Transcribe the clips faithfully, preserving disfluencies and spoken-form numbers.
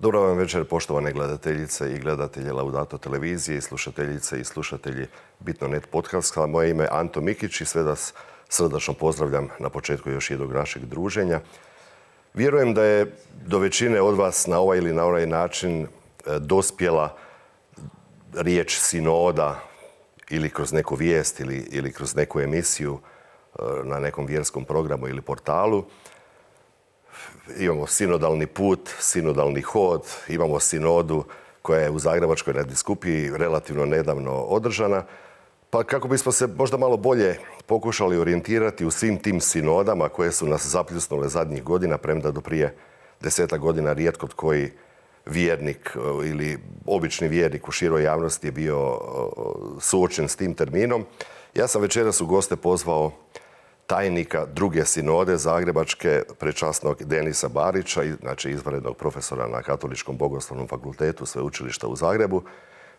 Dobro vam večer, poštovane gledateljice i gledatelji Laudato televizije i slušateljice i slušatelji Bitno net podcasta. Moje ime je Anto Mikić i sve vas srdačno pozdravljam na početku još jednog našeg druženja. Vjerujem da je do većine od vas na ovaj ili na onaj način dospjela riječ sinoda ili kroz neku vijest ili, ili kroz neku emisiju na nekom vjerskom programu ili portalu. Imamo sinodalni put, sinodalni hod, imamo sinodu koja je u Zagrebačkoj nadbiskupiji relativno nedavno održana. Pa kako bismo se možda malo bolje pokušali orijentirati u svim tim sinodama koje su nas zapljusnule zadnjih godina, premda do prije deseta godina rijetko koji vjernik ili obični vjernik u široj javnosti je bio suočen s tim terminom. Ja sam večeras u goste pozvao tajnika druge sinode Zagrebačke, prečasnog Denisa Barića, znači izvanrednog profesora na Katoličkom bogoslovnom fakultetu Sveučilišta u Zagrebu.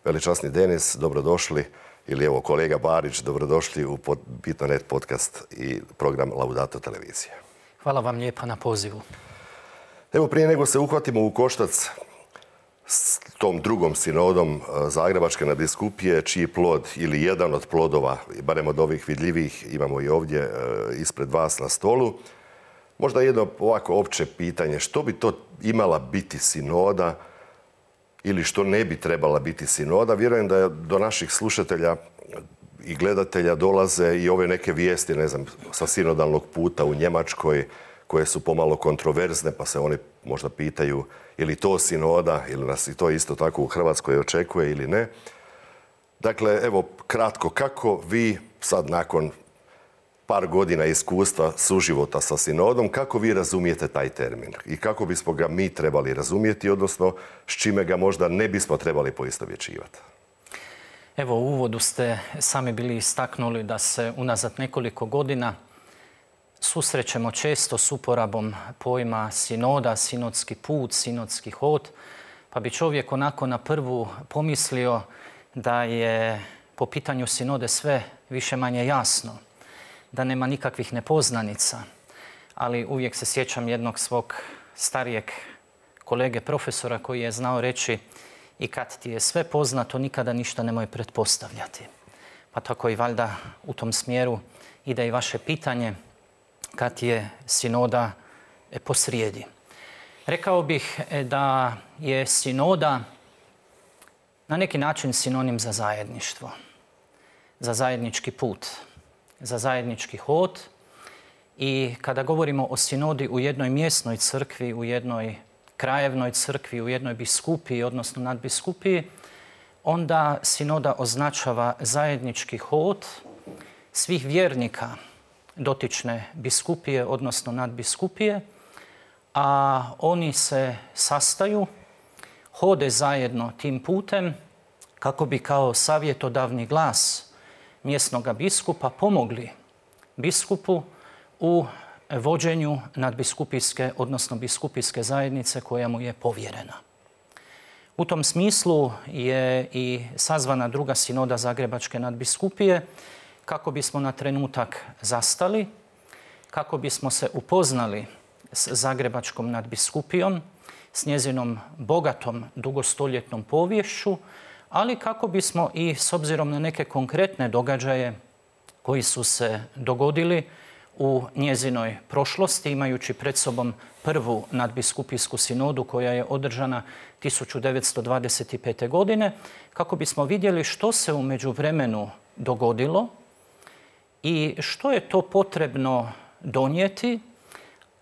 Veličasni Denis, dobrodošli, ili evo kolega Barić, dobrodošli u Bitno net podcast i program Laudato televizije. Hvala vam lijepa na pozivu. Evo, prije nego se uhvatimo u koštac s tom drugom sinodom Zagrebačke nadbiskupije, čiji plod ili jedan od plodova, barem od ovih vidljivih, imamo i ovdje ispred vas na stolu. Možda jedno ovako opće pitanje, što bi to imala biti sinoda ili što ne bi trebala biti sinoda? Vjerujem da do naših slušatelja i gledatelja dolaze i ove neke vijesti, ne znam, sa sinodalnog puta u Njemačkoj, koje su pomalo kontroverzne, pa se oni možda pitaju je li to sinoda ili nas i to isto tako u Hrvatskoj očekuje ili ne. Dakle, evo kratko, kako vi sad nakon par godina iskustva suživota sa sinodom, kako vi razumijete taj termin i kako bismo ga mi trebali razumijeti, odnosno s čime ga možda ne bismo trebali poistovjećivati? Evo, u uvodu ste sami bili istaknuli da se unazad nekoliko godina susrećemo često s uporabom pojma sinoda, sinodski put, sinodski hod, pa bi čovjek onako na prvu pomislio da je po pitanju sinode sve više manje jasno, da nema nikakvih nepoznanica, ali uvijek se sjećam jednog svog starijeg kolege profesora koji je znao reći i kad ti je sve poznato, nikada ništa nemoj pretpostavljati. Pa tako i valjda u tom smjeru ide i vaše pitanje kad je sinoda posrijedi. Rekao bih da je sinoda na neki način sinonim za zajedništvo, za zajednički put, za zajednički hod. I kada govorimo o sinodi u jednoj mjesnoj crkvi, u jednoj krajevnoj crkvi, u jednoj biskupiji, odnosno nadbiskupiji, onda sinoda označava zajednički hod svih vjernika dotične biskupije, odnosno nadbiskupije, a oni se sastaju, hode zajedno tim putem kako bi kao savjetodavni glas mjesnog biskupa pomogli biskupu u vođenju nadbiskupijske, odnosno biskupijske zajednice koja mu je povjerena. U tom smislu je i sazvana druga sinoda Zagrebačke nadbiskupije kako bismo na trenutak zastali, kako bismo se upoznali s Zagrebačkom nadbiskupijom, s njezinom bogatom dugostoljetnom poviješću, ali kako bismo i s obzirom na neke konkretne događaje koji su se dogodili u njezinoj prošlosti, imajući pred sobom prvu nadbiskupijsku sinodu koja je održana tisuću devetsto dvadeset pete. godine, kako bismo vidjeli što se u međuvremenu dogodilo i što je to potrebno donijeti,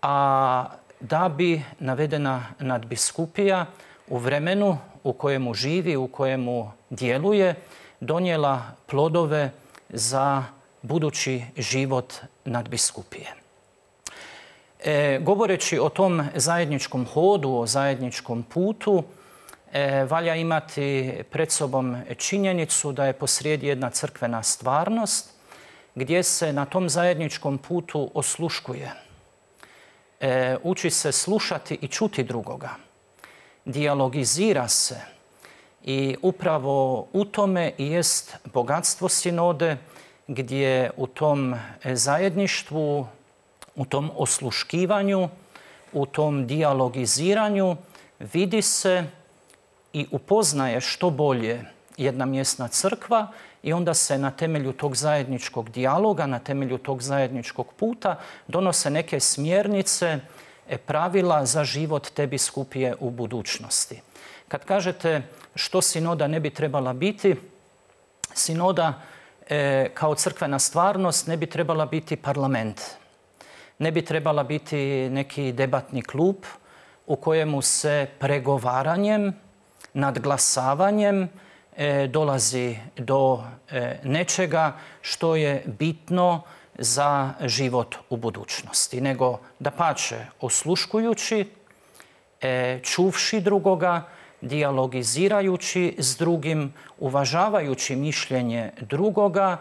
a da bi navedena nadbiskupija u vremenu u kojemu živi, u kojemu djeluje, donijela plodove za budući život nadbiskupije. E, govoreći o tom zajedničkom hodu, o zajedničkom putu, e, valja imati pred sobom činjenicu da je posrijedi jedna crkvena stvarnost gdje se na tom zajedničkom putu osluškuje. E, uči se slušati i čuti drugoga. Dijalogizira se i upravo u tome i jest bogatstvo sinode, gdje u tom zajedništvu, u tom osluškivanju, u tom dijalogiziranju vidi se i upoznaje što bolje jedna mjesna crkva i onda se na temelju tog zajedničkog dijaloga, na temelju tog zajedničkog puta donose neke smjernice, pravila za život te biskupije u budućnosti. Kad kažete što sinoda ne bi trebala biti, sinoda e, kao crkvena stvarnost ne bi trebala biti parlament. Ne bi trebala biti neki debatni klub u kojemu se pregovaranjem, nadglasavanjem e, dolazi do e, nečega što je bitno za život u budućnosti. Nego dapače, osluškujući, e, čuvši drugoga, dijalogizirajući s drugim, uvažavajući mišljenje drugoga,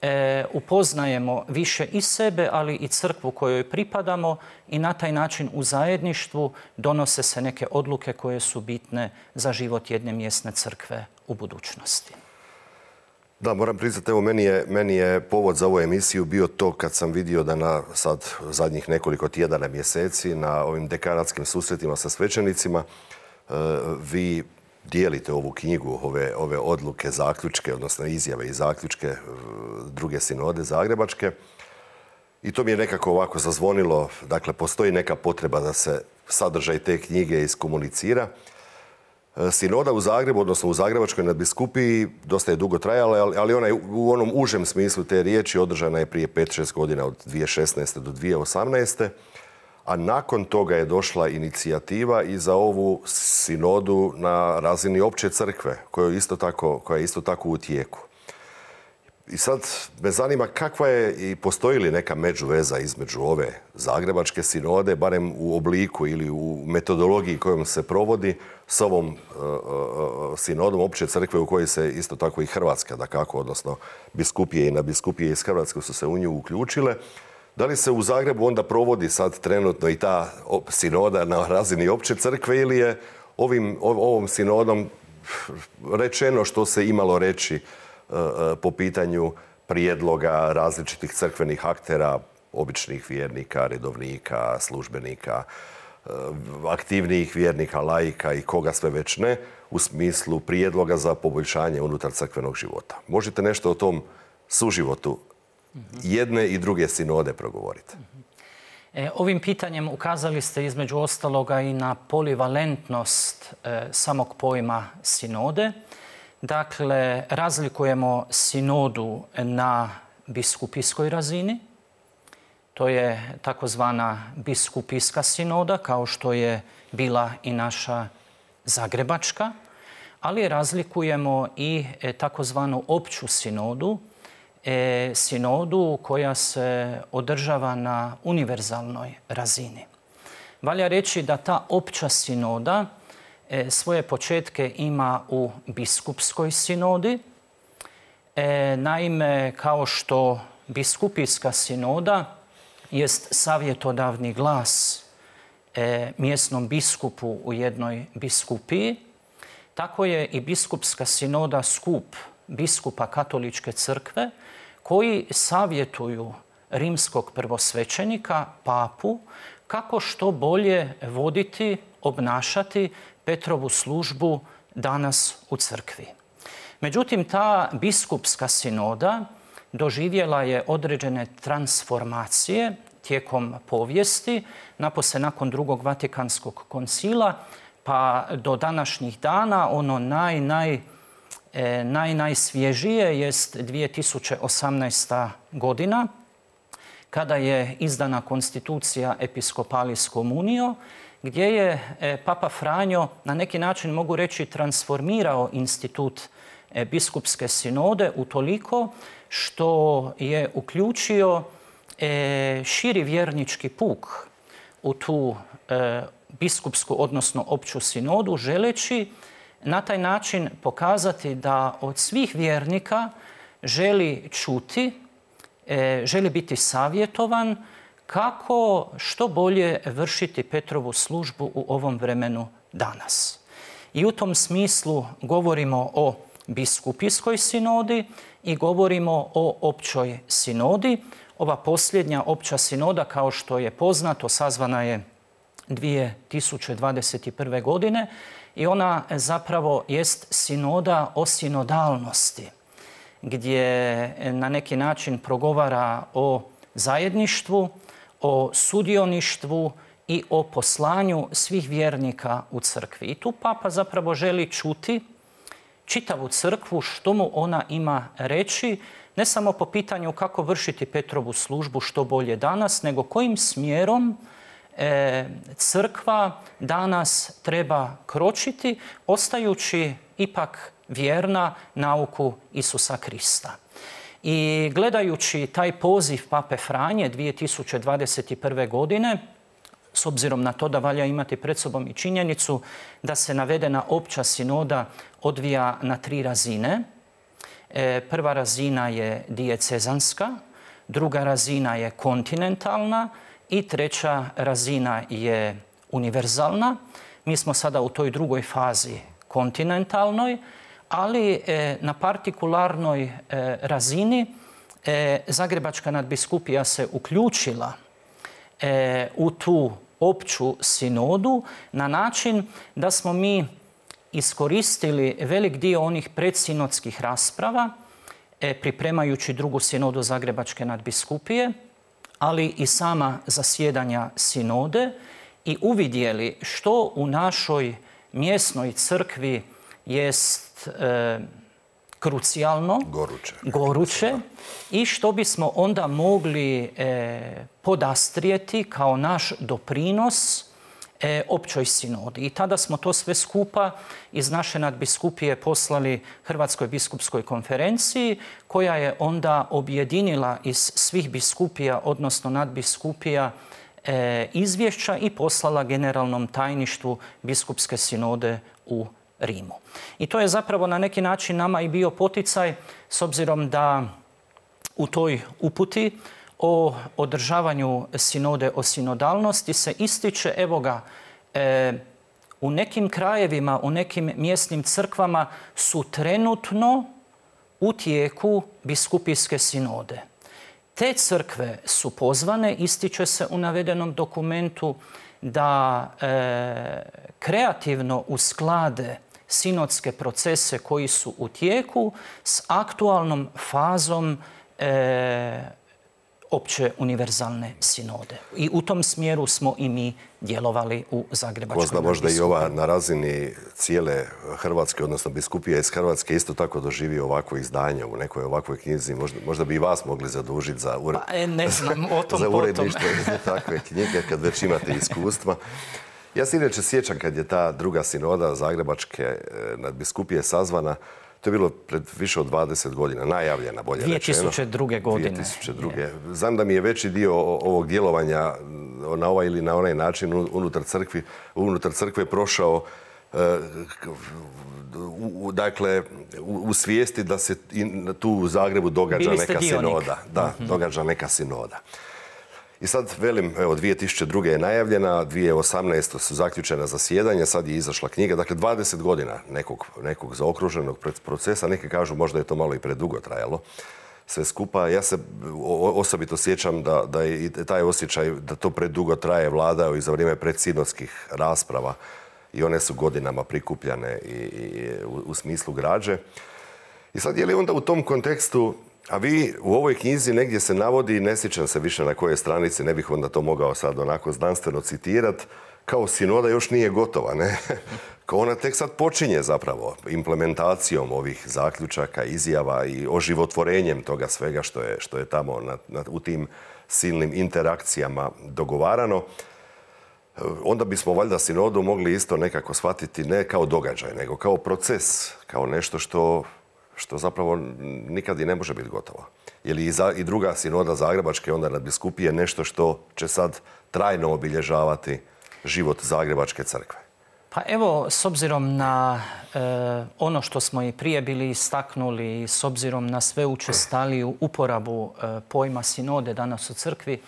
e, upoznajemo više i sebe, ali i crkvu kojoj pripadamo i na taj način u zajedništvu donose se neke odluke koje su bitne za život jedne mjesne crkve u budućnosti. Da, moram priznati, evo, meni je, meni je povod za ovu emisiju bio to kad sam vidio da na sad zadnjih nekoliko tjedana, mjeseci, na ovim dekanatskim susretima sa svećenicima, vi dijelite ovu knjigu, ove, ove odluke, zaključke, odnosno izjave i zaključke druge sinode zagrebačke. I to mi je nekako ovako zazvonilo. Dakle, postoji neka potreba da se sadržaj te knjige iskomunicira. Sinoda u Zagrebu, odnosno u Zagrebačkoj nadbiskupiji, dosta je dugo trajala, ali ona je u onom užem smislu te riječi održana je prije pet šest godina, od dvije tisuće šesnaeste do dvije tisuće osamnaeste. A nakon toga je došla inicijativa i za ovu sinodu na razini opće crkve, koja je isto tako, koja je isto tako u tijeku. I sad me zanima kakva je i postoji li neka međuveza između ove zagrebačke sinode, barem u obliku ili u metodologiji kojom se provodi, s ovom uh, sinodom opće crkve u kojoj se isto tako i Hrvatska, dakako, odnosno biskupije i nadbiskupije iz Hrvatske su se u nju uključile. Da li se u Zagrebu onda provodi sad trenutno i ta sinoda na razini opće crkve ili je ovim, ovom sinodom rečeno što se imalo reći po pitanju prijedloga različitih crkvenih aktera, običnih vjernika, redovnika, službenika, aktivnijih vjernika, laika i koga sve već ne, u smislu prijedloga za poboljšanje unutar crkvenog života? Možete nešto o tom suživotu jedne i druge sinode progovoriti? E, ovim pitanjem ukazali ste između ostaloga i na polivalentnost e, samog pojma sinode. Dakle, razlikujemo sinodu na biskupijskoj razini. To je takozvana biskupijska sinoda, kao što je bila i naša zagrebačka, ali razlikujemo i takozvanu opću sinodu, e, sinodu koja se održava na univerzalnoj razini. Valja reći da ta opća sinoda e, svoje početke ima u biskupskoj sinodi. E, naime, kao što biskupijska sinoda jest savjetodavni glas e, mjesnom biskupu u jednoj biskupiji, tako je i biskupska sinoda skup biskupa katoličke crkve koji savjetuju rimskog prvosvećenika, papu, kako što bolje voditi, obnašati Petrovu službu danas u crkvi. Međutim, ta biskupska sinoda doživjela je određene transformacije tijekom povijesti, napose nakon drugog Vatikanskog koncila, pa do današnjih dana ono naj, naj, e, naj, najsvježije jest dvije tisuće osamnaesta godina, kada je izdana konstitucija Episcopalis Communio, gdje je e, Papa Franjo na neki način, mogu reći, transformirao institut e, biskupske sinode utoliko što je uključio e, širi vjernički puk u tu e, biskupsku, odnosno opću sinodu, želeći na taj način pokazati da od svih vjernika želi čuti, e, želi biti savjetovan kako što bolje vršiti Petrovu službu u ovom vremenu danas. I u tom smislu govorimo o biskupijskoj sinodi i govorimo o općoj sinodi. Ova posljednja opća sinoda, kao što je poznato, sazvana je dvije tisuće dvadeset prve. godine i ona zapravo jest sinoda o sinodalnosti, gdje na neki način progovara o zajedništvu, o sudioništvu i o poslanju svih vjernika u crkvi. I tu papa zapravo želi čuti čitavu crkvu, što mu ona ima reći, ne samo po pitanju kako vršiti Petrovu službu što bolje danas, nego kojim smjerom e, crkva danas treba kročiti, ostajući ipak vjerna nauku Isusa Krista. I gledajući taj poziv Pape Franje dvije tisuće dvadeset prve. godine, s obzirom na to da valja imati pred sobom i činjenicu da se navedena opća sinoda odvija na tri razine. E, prva razina je dijecezanska, druga razina je kontinentalna i treća razina je univerzalna. Mi smo sada u toj drugoj fazi kontinentalnoj, ali e, na partikularnoj e, razini e, Zagrebačka nadbiskupija se uključila e, u tu opću sinodu na način da smo mi iskoristili velik dio onih predsinodskih rasprava e, pripremajući drugu sinodu Zagrebačke nadbiskupije, ali i sama zasjedanja sinode i uvidjeli što u našoj mjesnoj crkvi jest e, krucijalno, goruće, goruće i što bismo onda mogli e, podastrijeti kao naš doprinos e, općoj sinodi. I tada smo to sve skupa iz naše nadbiskupije poslali Hrvatskoj biskupskoj konferenciji, koja je onda objedinila iz svih biskupija, odnosno nadbiskupija, e, izvješća i poslala generalnom tajništvu biskupske sinode u Rimu. I to je zapravo na neki način nama i bio poticaj, s obzirom da u toj uputi o održavanju sinode o sinodalnosti se ističe, evo ga, e, u nekim krajevima, u nekim mjesnim crkvama su trenutno u tijeku biskupijske sinode. Te crkve su pozvane, ističe se u navedenom dokumentu, da e, kreativno usklade sinodske procese koji su u tijeku s aktualnom fazom e, opće univerzalne sinode. I u tom smjeru smo i mi djelovali u Zagrebačkoj nadbiskupiji. Ko zna, možda i ova na razini cijele Hrvatske, odnosno biskupija iz Hrvatske, isto tako doživi ovako izdanje u nekoj ovakvoj knjizi. Možda, možda bi i vas mogli zadužiti za, ure... pa, ne znam, o tom za uredništvo takve knjige, kad već imate iskustva. Ja se inače sjećam kad je ta druga sinoda Zagrebačke nadbiskupije sazvana. To je bilo pred više od dvadeset godina, najavljena, bolje rečeno. dvije tisuće druge. godine. dvije tisuće druge. Znam da mi je veći dio ovog djelovanja na ovaj ili na onaj način unutar crkvi, unutar crkve prošao u, dakle, u, u svijesti da se tu u Zagrebu događa neka sinoda. Da, uh-huh. događa neka sinoda. I sad, velim, evo, dvije tisuće druge. je najavljena, dvije tisuće osamnaeste. su zaključena zasjedanja, sad je izašla knjiga. Dakle, dvadeset godina nekog, nekog zaokruženog procesa. Neki kažu možda je to malo i predugo trajalo. Sve skupa. Ja se osobito sjećam da, da je i taj osjećaj da to predugo traje vladao i za vrijeme predsinodskih rasprava. I one su godinama prikupljane i, i u, u smislu građe. I sad je li onda u tom kontekstu, a vi u ovoj knjizi negdje se navodi, ne sjećam se više na koje stranici, ne bih onda to mogao sad onako znanstveno citirati, kao sinoda još nije gotova, ne? Kao ona tek sad počinje zapravo implementacijom ovih zaključaka, izjava i oživotvorenjem toga svega što je, što je tamo na, na, u tim silnim interakcijama dogovarano. Onda bismo valjda sinodu mogli isto nekako shvatiti ne kao događaj, nego kao proces, kao nešto što što zapravo nikad i ne može biti gotovo. Je li i, za, i druga sinoda Zagrebačke onda nadbiskupije nešto što će sad trajno obilježavati život Zagrebačke crkve? Pa evo, s obzirom na e, ono što smo i prije bili istaknuli, s obzirom na sve učestaliju uporabu e, pojma sinode danas u crkvi,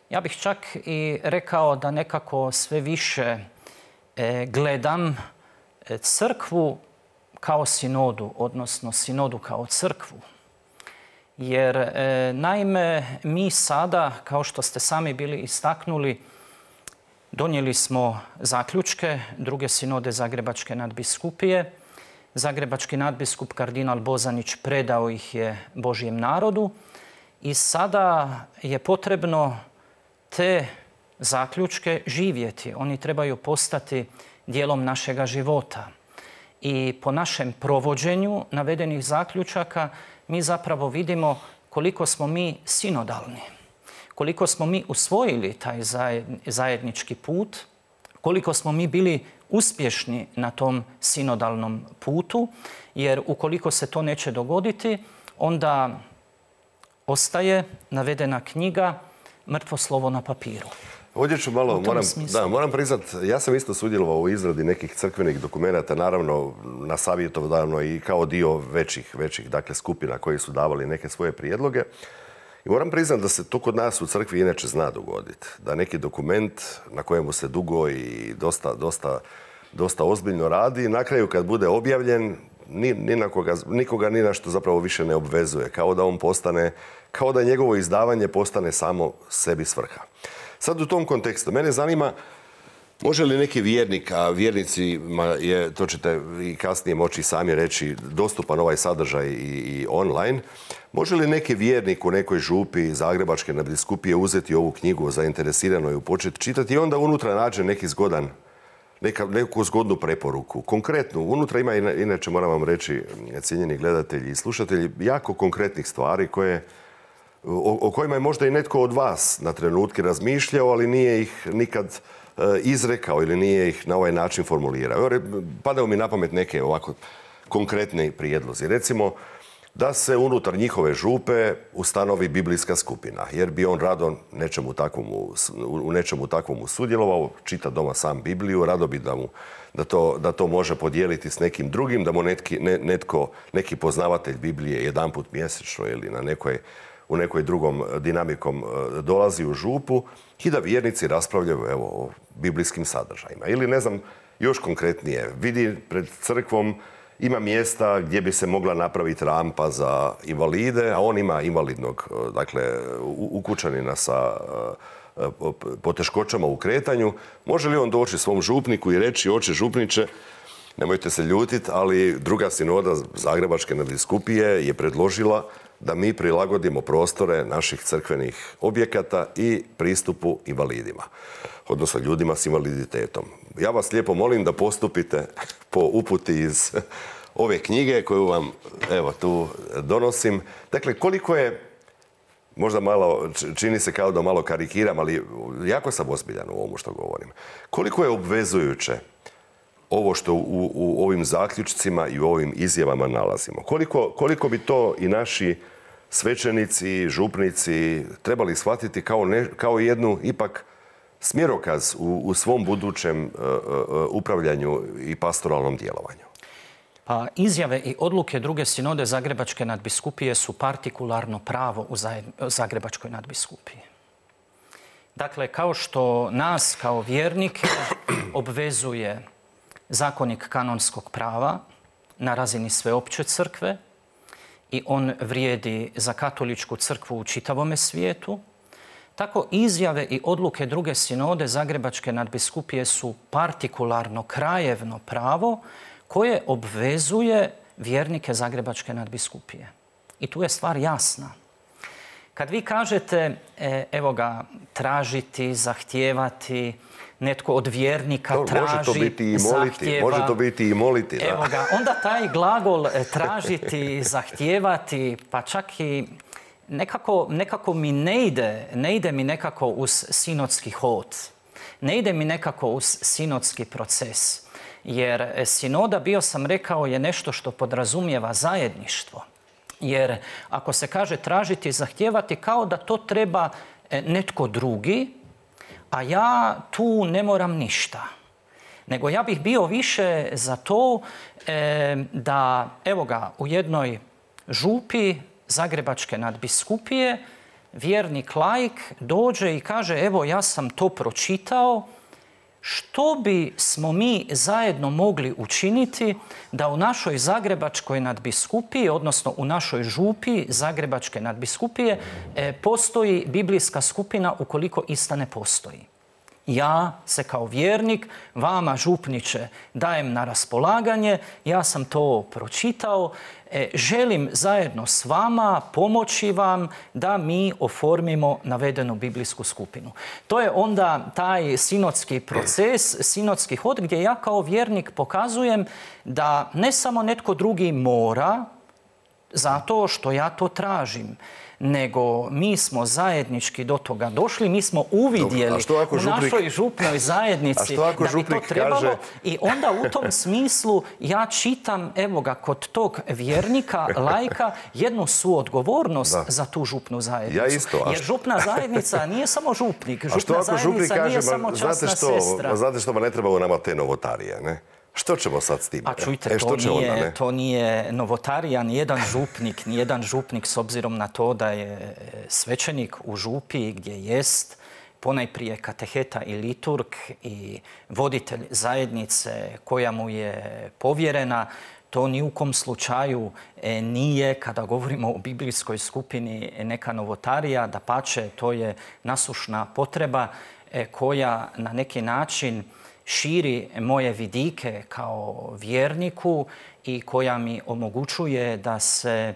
ja bih čak i rekao da nekako sve više e, gledam e, crkvu kao sinodu, odnosno sinodu kao crkvu. Jer e, naime mi sada, kao što ste sami bili istaknuli, donijeli smo zaključke druge sinode Zagrebačke nadbiskupije. Zagrebački nadbiskup kardinal Bozanić predao ih je Božjem narodu i sada je potrebno te zaključke živjeti. Oni trebaju postati dijelom našega života. I po našem provođenju navedenih zaključaka mi zapravo vidimo koliko smo mi sinodalni, koliko smo mi usvojili taj zajednički put, koliko smo mi bili uspješni na tom sinodalnom putu, jer ukoliko se to neće dogoditi, onda ostaje navedena knjiga mrtvo slovo na papiru. Ovdje ću malo, moram, da, moram priznat, ja sam isto sudjelovao u izradi nekih crkvenih dokumenata, naravno na savjetodavnoj i kao dio većih, većih dakle, skupina koji su davali neke svoje prijedloge. I moram priznat da se to kod nas u crkvi inače zna dogoditi. Da neki dokument na kojemu se dugo i dosta, dosta, dosta ozbiljno radi, na kraju kad bude objavljen, ni, ni na koga, nikoga ni na što zapravo više ne obvezuje. Kao da on postane, kao da njegovo izdavanje postane samo sebi svrha. Sad u tom kontekstu, mene zanima, može li neki vjernik, a vjernicima je, to ćete i kasnije moći sami reći, dostupan ovaj sadržaj i, i online, može li neki vjernik u nekoj župi Zagrebačke nadbiskupije uzeti ovu knjigu zainteresirano i početi čitati i onda unutra nađe neki zgodan, neka, neku zgodnu preporuku. Konkretnu, unutra ima, inače moram vam reći, cijenjeni gledatelji i slušatelji, jako konkretnih stvari koje O, o kojima je možda i netko od vas na trenutke razmišljao, ali nije ih nikad e, izrekao ili nije ih na ovaj način formulirao. Padaju mi na pamet neke ovako konkretne prijedlozi. Recimo, da se unutar njihove župe ustanovi biblijska skupina, jer bi on rado nečemu takvomu, u nečemu takvomu sudjelovao, čita doma sam Bibliju, rado bi da, mu, da, to, da to može podijeliti s nekim drugim, da mu netki, ne, netko, neki poznavatelj Biblije jedanput mjesečno ili na nekoj u nekoj drugom dinamikom dolazi u župu i da vjernici raspravljaju evo, o biblijskim sadržajima. Ili, ne znam, još konkretnije, vidi pred crkvom ima mjesta gdje bi se mogla napraviti rampa za invalide, a on ima invalidnog, dakle, ukućanina sa poteškoćama u kretanju. Može li on doći svom župniku i reći, oče župniče, nemojte se ljutiti, ali druga sinoda Zagrebačke nadbiskupije je predložila da mi prilagodimo prostore naših crkvenih objekata i pristupu invalidima, odnosno ljudima s invaliditetom. Ja vas lijepo molim da postupite po uputi iz ove knjige koju vam evo tu donosim. Dakle, koliko je, možda malo, čini se kao da malo karikiram, ali jako sam ozbiljan u ovomu što govorim. Koliko je obvezujuće ovo što u, u ovim zaključcima i u ovim izjavama nalazimo? Koliko, koliko bi to i naši svećenici, župnici trebali shvatiti kao, ne, kao jednu ipak smjerokaz u, u svom budućem uh, uh, upravljanju i pastoralnom djelovanju? Pa izjave i odluke druge sinode Zagrebačke nadbiskupije su partikularno pravo u Zagrebačkoj nadbiskupiji. Dakle, kao što nas kao vjernike obvezuje zakonik kanonskog prava na razini sveopće crkve i on vrijedi za katoličku crkvu u čitavome svijetu, tako izjave i odluke druge sinode Zagrebačke nadbiskupije su partikularno krajevno pravo koje obvezuje vjernike Zagrebačke nadbiskupije. I tu je stvar jasna. Kad vi kažete, evo ga, tražiti, zahtijevati, netko od vjernika Dobro, traži, može to biti i moliti, zahtjeva. Može to biti i moliti, da. Evo ga, onda taj glagol tražiti, zahtijevati, pa čak i nekako, nekako mi ne ide, ne ide mi nekako uz sinodski hod. Ne ide mi nekako uz sinodski proces. Jer sinoda, bio sam rekao, je nešto što podrazumijeva zajedništvo. Jer ako se kaže tražiti, zahtijevati, kao da to treba netko drugi, a ja tu ne moram ništa. Nego ja bih bio više za to e, da, evo ga, u jednoj župi Zagrebačke nadbiskupije vjernik laik dođe i kaže, evo ja sam to pročitao, što bi smo mi zajedno mogli učiniti da u našoj Zagrebačkoj nadbiskupiji, odnosno u našoj župi Zagrebačke nadbiskupije, postoji biblijska skupina ukoliko ista ne postoji. Ja se kao vjernik vama, župniče, dajem na raspolaganje, ja sam to pročitao, e, želim zajedno s vama pomoći vam da mi oformimo navedenu biblijsku skupinu. To je onda taj sinodski proces, sinodski hod gdje ja kao vjernik pokazujem da ne samo netko drugi mora, zato što ja to tražim, nego mi smo zajednički do toga došli, mi smo uvidjeli u našoj župnoj zajednici da bi to trebalo kaže... i onda u tom smislu ja čitam, evo ga, kod tog vjernika, laika, jednu suodgovornost da. za tu župnu zajednicu. Ja isto. Jer župna zajednica nije samo župnik, župna zajednica nije samo časna sestra. Znate što, ne trebamo nama te novotarije, ne? Što ćemo sad s tim? A čujte, e, to, nije, onda, to nije novotarija, nijedan župnik, nijedan župnik s obzirom na to da je svećenik u župi gdje jest ponajprije kateheta i liturg i voditelj zajednice koja mu je povjerena, to ni u kom slučaju nije, kada govorimo o biblijskoj skupini, neka novotarija, dapače, to je nasušna potreba koja na neki način širi moje vidike kao vjerniku i koja mi omogućuje da se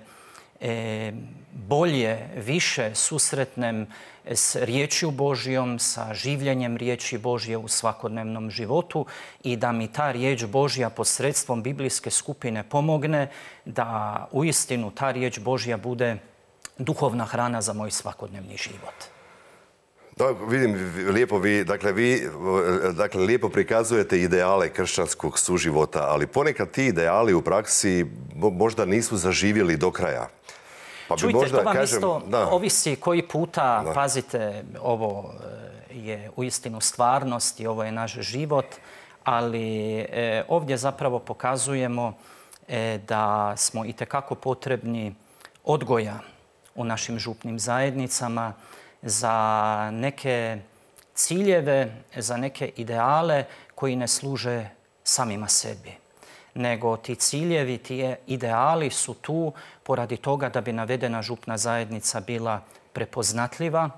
e, bolje, više susretnem s riječju Božjom, sa življenjem riječi Božje u svakodnevnom životu i da mi ta riječ Božja posredstvom biblijske skupine pomogne da uistinu ta riječ Božja bude duhovna hrana za moj svakodnevni život. Da, vidim, lijepo vi, dakle, vi dakle, lijepo prikazujete ideale kršćanskog suživota, ali ponekad ti ideali u praksi možda nisu zaživjeli do kraja. Pa bi Čujte, možda, to vam kažem, isto da. ovisi koji puta, da. pazite, ovo je uistinu stvarnost i ovo je naš život, ali e, ovdje zapravo pokazujemo e, da smo itekako potrebni odgoja u našim župnim zajednicama, za neke ciljeve, za neke ideale koji ne služe samima sebi. Nego ti ciljevi, ti ideali su tu poradi toga da bi navedena župna zajednica bila prepoznatljiva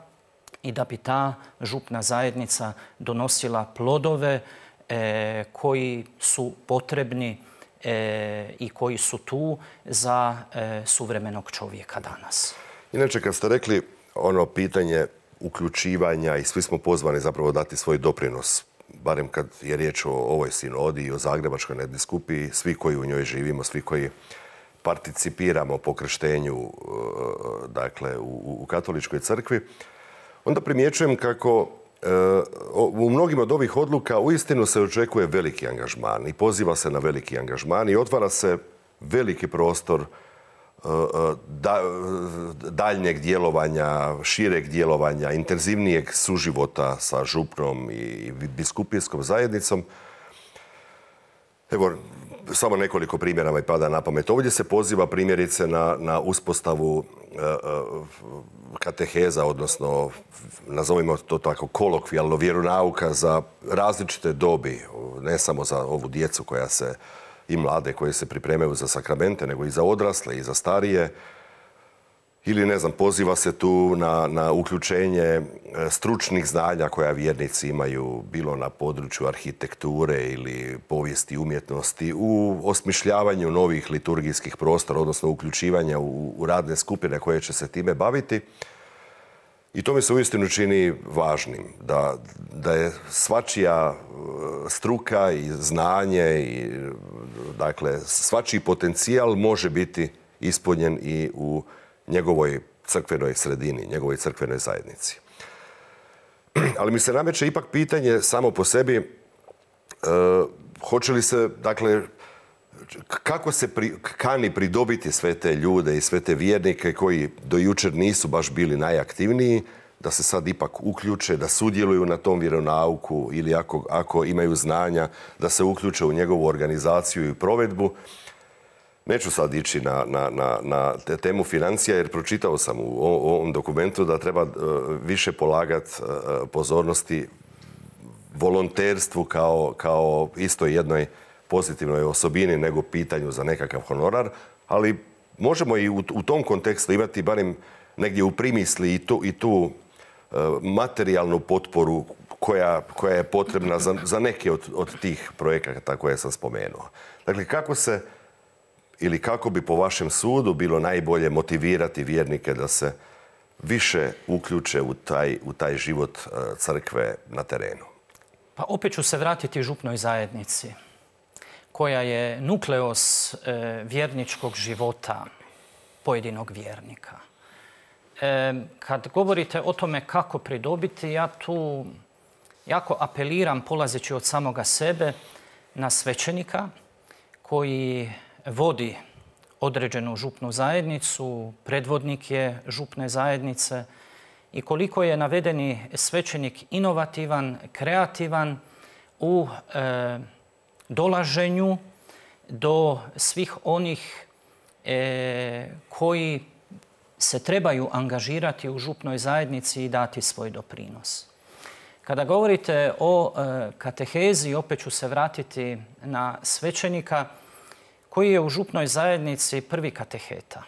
i da bi ta župna zajednica donosila plodove e, koji su potrebni e, i koji su tu za e, suvremenog čovjeka danas. Inače, kad ste rekli ono pitanje uključivanja i svi smo pozvani zapravo dati svoj doprinos, barem kad je riječ o ovoj sinodi i o Zagrebačkoj nadbiskupiji, svi koji u njoj živimo, svi koji participiramo po krštenju dakle, u, u katoličkoj crkvi, onda primjećujem kako u mnogim od ovih odluka uistinu se očekuje veliki angažman i poziva se na veliki angažman i otvara se veliki prostor Da, daljnjeg djelovanja, šireg djelovanja, intenzivnijeg suživota sa župnom i biskupijskom zajednicom. Evo, samo nekoliko primjera mi pada na pamet. Ovdje se poziva primjerice na, na uspostavu uh, kateheza, odnosno, nazovimo to tako kolokvijalno, vjeronauka za različite dobi, ne samo za ovu djecu koja se i mlade koje se pripremaju za sakramente, nego i za odrasle i za starije. Ili, ne znam, poziva se tu na, na uključenje stručnih znanja koja vjernici imaju, bilo na području arhitekture ili povijesti umjetnosti, u osmišljavanju novih liturgijskih prostora, odnosno uključivanja u, u radne skupine koje će se time baviti. I to mi se uistinu čini važnim, da, da je svačija struka i znanje i dakle, svačiji potencijal može biti ispunjen i u njegovoj crkvenoj sredini, njegovoj crkvenoj zajednici. Ali mi se nameće ipak pitanje samo po sebi, e, hoće li se, dakle, kako se pri, kani pridobiti sve te ljude i sve te vjernike koji do jučer nisu baš bili najaktivniji, da se sad ipak uključe, da sudjeluju na tom vjeronauku ili ako, ako imaju znanja, da se uključe u njegovu organizaciju i provedbu. Neću sad ići na, na, na, na temu financija jer pročitao sam u ovom dokumentu da treba više polagati pozornosti volonterstvu kao, kao isto jednoj pozitivnoj osobini nego pitanju za nekakav honorar, ali možemo i u, u tom kontekstu imati barem negdje u primisli i tu, i tu e, materijalnu potporu koja, koja je potrebna za, za neke od, od tih projekata koje sam spomenuo. Dakle, kako se ili kako bi po vašem sudu bilo najbolje motivirati vjernike da se više uključe u taj, u taj život crkve na terenu? Pa opet ću se vratiti župnoj zajednici, koja je nukleos e, vjerničkog života pojedinog vjernika. E, kad govorite o tome kako pridobiti, ja tu jako apeliram, polazeći od samoga sebe, na svećenika koji vodi određenu župnu zajednicu, predvodnik je župne zajednice i koliko je navedeni svećenik inovativan, kreativan u e, dolaženju do svih onih e, koji se trebaju angažirati u župnoj zajednici i dati svoj doprinos. Kada govorite o e, katehezi, opet ću se vratiti na svećenika koji je u župnoj zajednici prvi kateheta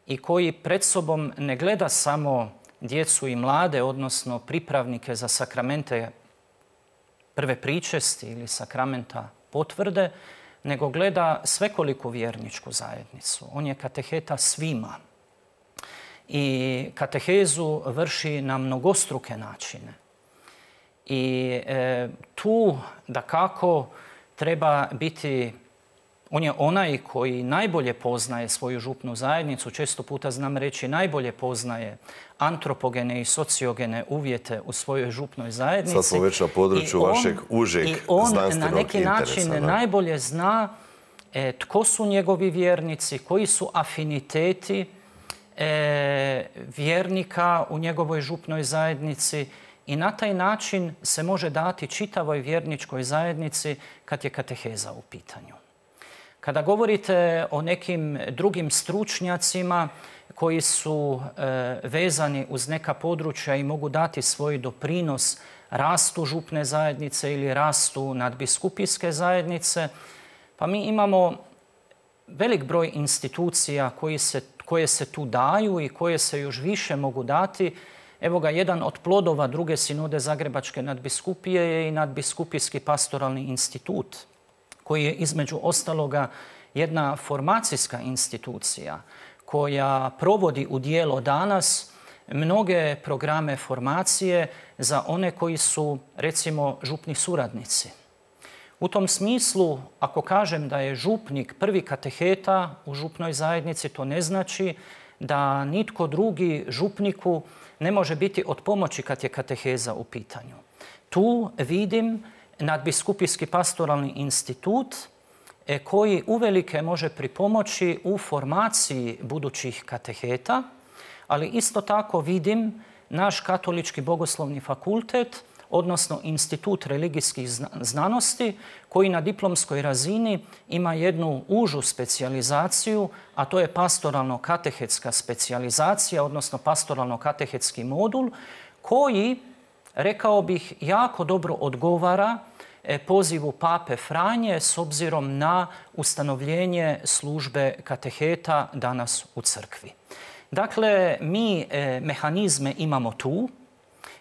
i koji pred sobom ne gleda samo djecu i mlade, odnosno pripravnike za sakramente prve pričesti ili sakramenta potvrde, nego gleda svekoliku vjerničku zajednicu. On je kateheta svima. I katehezu vrši na mnogostruke načine. I e, tu, dakako, treba biti... On je onaj koji najbolje poznaje svoju župnu zajednicu, često puta znam reći najbolje poznaje antropogene i sociogene uvjete u svojoj župnoj zajednici. Sad smo već na području on, vašeg užeg znanstvenog interesa. I on na neki način da. najbolje zna e, tko su njegovi vjernici, koji su afiniteti e, vjernika u njegovoj župnoj zajednici i na taj način se može dati čitavoj vjerničkoj zajednici kad je kateheza u pitanju. Kada govorite o nekim drugim stručnjacima koji su e, vezani uz neka područja i mogu dati svoj doprinos rastu župne zajednice ili rastu nadbiskupijske zajednice, pa mi imamo velik broj institucija koji se, koje se tu daju i koje se još više mogu dati. Evo ga, jedan od plodova druge sinode Zagrebačke nadbiskupije je i nadbiskupijski pastoralni institut, koji je između ostaloga jedna formacijska institucija koja provodi u djelo danas mnoge programe formacije za one koji su, recimo, župni suradnici. U tom smislu, ako kažem da je župnik prvi kateheta u župnoj zajednici, to ne znači da nitko drugi župniku ne može biti od pomoći kad je kateheza u pitanju. Tu vidim nadbiskupijski pastoralni institut koji uvelike može pripomoći u formaciji budućih kateheta, ali isto tako vidim naš Katolički bogoslovni fakultet, odnosno Institut religijskih znanosti, koji na diplomskoj razini ima jednu užu specijalizaciju, a to je pastoralno-katehetska specijalizacija, odnosno pastoralno-katehetski modul, koji, rekao bih, jako dobro odgovara pozivu Pape Franje s obzirom na ustanovljenje službe kateheta danas u crkvi. Dakle, mi e, mehanizme imamo tu,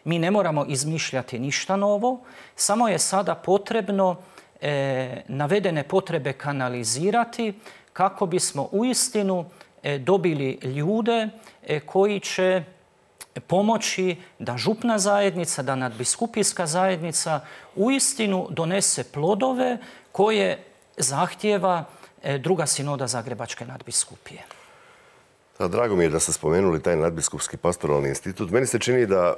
mi ne moramo izmišljati ništa novo, samo je sada potrebno e, navedene potrebe kanalizirati kako bismo uistinu e, dobili ljude e, koji će pomoći da župna zajednica, da nadbiskupijska zajednica uistinu donese plodove koje zahtijeva druga sinoda Zagrebačke nadbiskupije. Da, drago mi je da ste spomenuli taj nadbiskupski pastoralni institut. Meni se čini da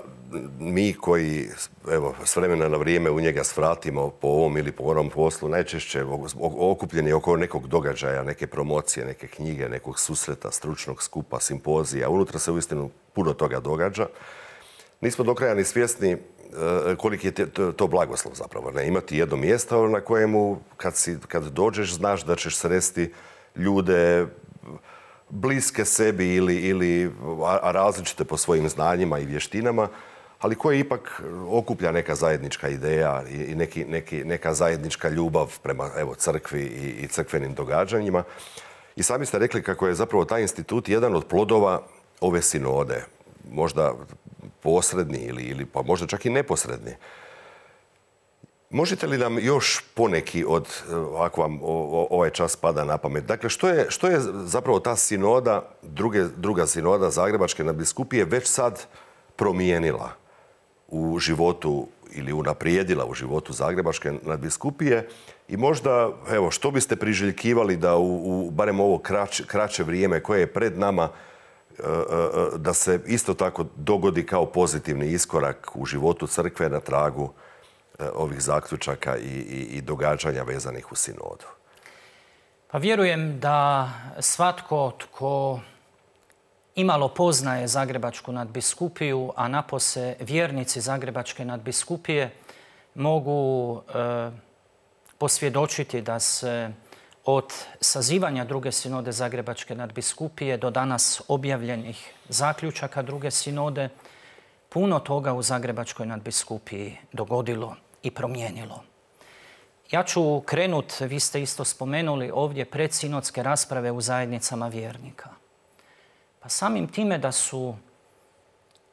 mi koji, evo, s vremena na vrijeme u njega svratimo po ovom ili po onom poslu, najčešće okupljeni oko nekog događaja, neke promocije, neke knjige, nekog susreta, stručnog skupa, simpozija. Unutra se uistinu puno toga događa. Nismo do kraja ni svjesni koliki je to blagoslov zapravo. Ne? Imati jedno mjesto na kojemu kad, si, kad dođeš znaš da ćeš sresti ljude bliske sebi ili, ili a različite po svojim znanjima i vještinama, ali koje ipak okuplja neka zajednička ideja i neki, neki, neka zajednička ljubav prema evo, crkvi i, i crkvenim događanjima. I sami ste rekli kako je zapravo taj institut jedan od plodova ove sinode. Možda posredni ili, ili pa možda čak i neposredni. Možete li nam još poneki od, ako vam ovaj čas pada na pamet, dakle što je, što je zapravo ta sinoda, druge, druga sinoda Zagrebačke nadbiskupije već sad promijenila u životu ili unaprijedila u životu Zagrebačke nadbiskupije i možda, evo, što biste priželjkivali da u, u barem ovo kraće, kraće vrijeme koje je pred nama, da se isto tako dogodi kao pozitivni iskorak u životu crkve na tragu ovih zaključaka i, i, i događanja vezanih u sinodu? Pa vjerujem da svatko tko imalo poznaje Zagrebačku nadbiskupiju, a napose vjernici Zagrebačke nadbiskupije mogu e, posvjedočiti da se od sazivanja druge sinode Zagrebačke nadbiskupije do danas objavljenih zaključaka druge sinode puno toga u Zagrebačkoj nadbiskupiji dogodilo i promijenilo. Ja ću krenut, vi ste isto spomenuli ovdje, predsinodske rasprave u zajednicama vjernika. Pa samim time da su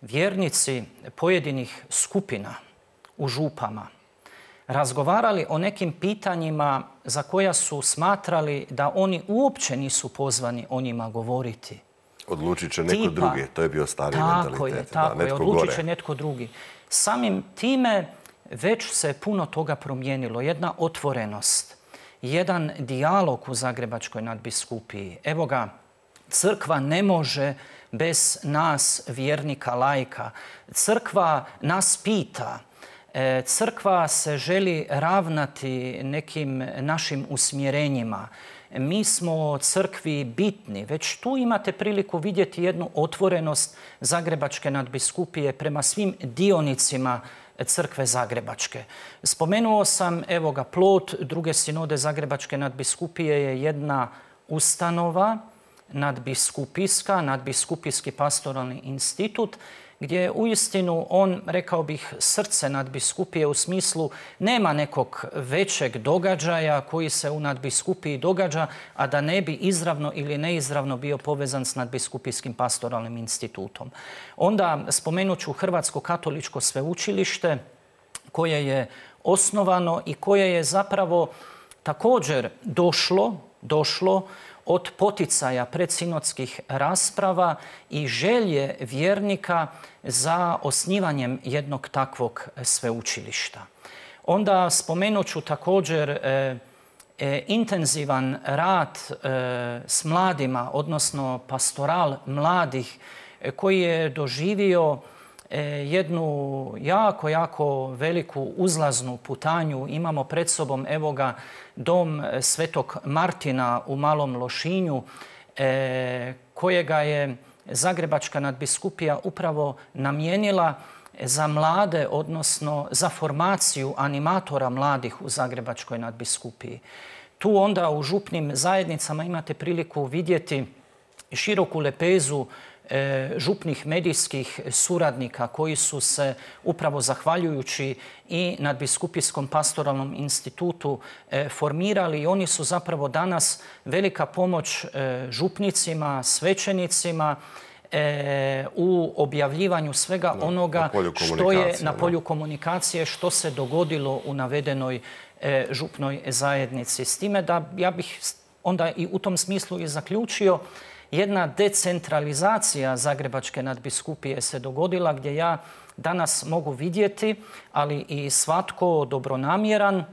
vjernici pojedinih skupina u župama razgovarali o nekim pitanjima za koja su smatrali da oni uopće nisu pozvani o njima govoriti. Odlučit će neko Tipa, drugi, to je bio stari tako mentalitet. Je, tako da, je, odlučit će netko drugi. Samim time već se puno toga promijenilo. Jedna otvorenost, jedan dijalog u Zagrebačkoj nadbiskupiji. Evo ga, crkva ne može bez nas, vjernika, laika. Crkva nas pita. Crkva se želi ravnati nekim našim usmjerenjima. Mi smo crkvi bitni. Već tu imate priliku vidjeti jednu otvorenost Zagrebačke nadbiskupije prema svim dionicima crkve Zagrebačke. Spomenuo sam, evo ga, plod druge sinode Zagrebačke nadbiskupije je jedna ustanova, nadbiskupijska, nadbiskupijski pastoralni institut, gdje je uistinu on, rekao bih, srce nadbiskupije u smislu nema nekog većeg događaja koji se u nadbiskupiji događa, a da ne bi izravno ili neizravno bio povezan s nadbiskupijskim pastoralnim institutom. Onda spomenut ću Hrvatsko katoličko sveučilište koje je osnovano i koje je zapravo također došlo, došlo od poticaja predsinodskih rasprava i želje vjernika za osnivanjem jednog takvog sveučilišta. Onda spomenut ću također e, e, intenzivan rad e, s mladima, odnosno pastoral mladih e, koji je doživio e, jednu jako, jako veliku uzlaznu putanju. Imamo pred sobom, evo ga, dom Svetog Martina u Malom Lošinju, e, kojega je Zagrebačka nadbiskupija upravo namijenila za mlade, odnosno za formaciju animatora mladih u Zagrebačkoj nadbiskupiji. Tu onda u župnim zajednicama imate priliku vidjeti široku lepezu župnih medijskih suradnika koji su se upravo zahvaljujući i nadbiskupijskom pastoralnom institutu formirali i oni su zapravo danas velika pomoć župnicima, svećenicima u objavljivanju svega onoga što je na polju komunikacije, što se dogodilo u navedenoj župnoj zajednici. S time da ja bih onda i u tom smislu i zaključio, jedna decentralizacija Zagrebačke nadbiskupije se dogodila gdje ja danas mogu vidjeti, ali i svatko dobronamjeran,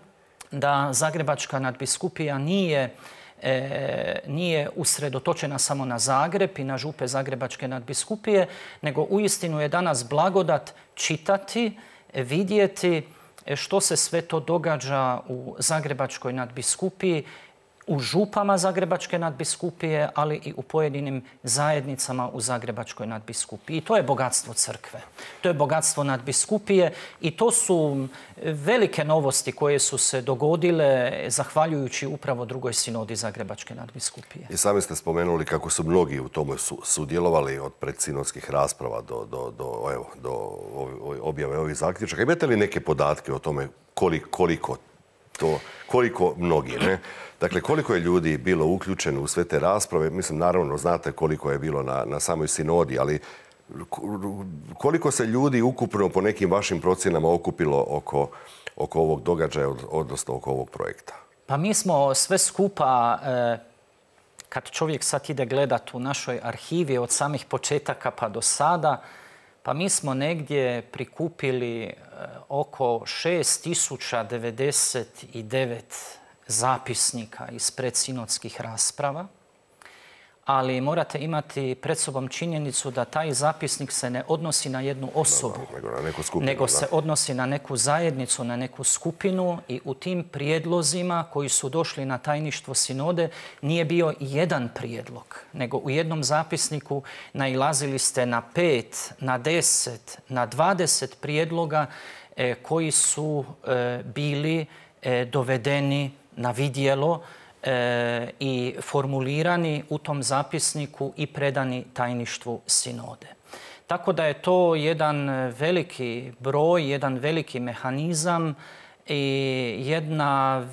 da Zagrebačka nadbiskupija nije, e, nije usredotočena samo na Zagreb i na župe Zagrebačke nadbiskupije, nego uistinu je danas blagodat čitati, vidjeti što se sve to događa u Zagrebačkoj nadbiskupiji, u župama Zagrebačke nadbiskupije, ali i u pojedinim zajednicama u Zagrebačkoj nadbiskupiji. I to je bogatstvo crkve. To je bogatstvo nadbiskupije i to su velike novosti koje su se dogodile zahvaljujući upravo drugoj sinodi Zagrebačke nadbiskupije. I sami ste spomenuli kako su mnogi u tome sudjelovali od predsinodskih rasprava do, do, do, evo, do objave ovih zaključaka. Imate li neke podatke o tome koliko, koliko to, koliko mnogi, ne? Dakle, koliko je ljudi bilo uključeno u sve te rasprave? Mislim, naravno, znate koliko je bilo na, na samoj sinodi, ali Koliko se ljudi ukupno po nekim vašim procjenama okupilo oko, oko ovog događaja, odnosno oko ovog projekta? Pa mi smo sve skupa, kad čovjek sad ide gledat u našoj arhivi od samih početaka pa do sada, pa mi smo negdje prikupili oko šest tisuća devedeset devet zapisnika iz predsinodskih rasprava, ali morate imati pred sobom činjenicu da taj zapisnik se ne odnosi na jednu osobu, da, da, nego, na neku skupinu, nego da. se odnosi na neku zajednicu, na neku skupinu i u tim prijedlozima koji su došli na tajništvo sinode nije bio jedan prijedlog, nego u jednom zapisniku nailazili ste na pet, na deset, na dvadeset prijedloga e, koji su e, bili e, dovedeni na vidjelo E, i formulirani u tom zapisniku i predani tajništvu sinode. Tako da je to jedan veliki broj, jedan veliki mehanizam i jedna,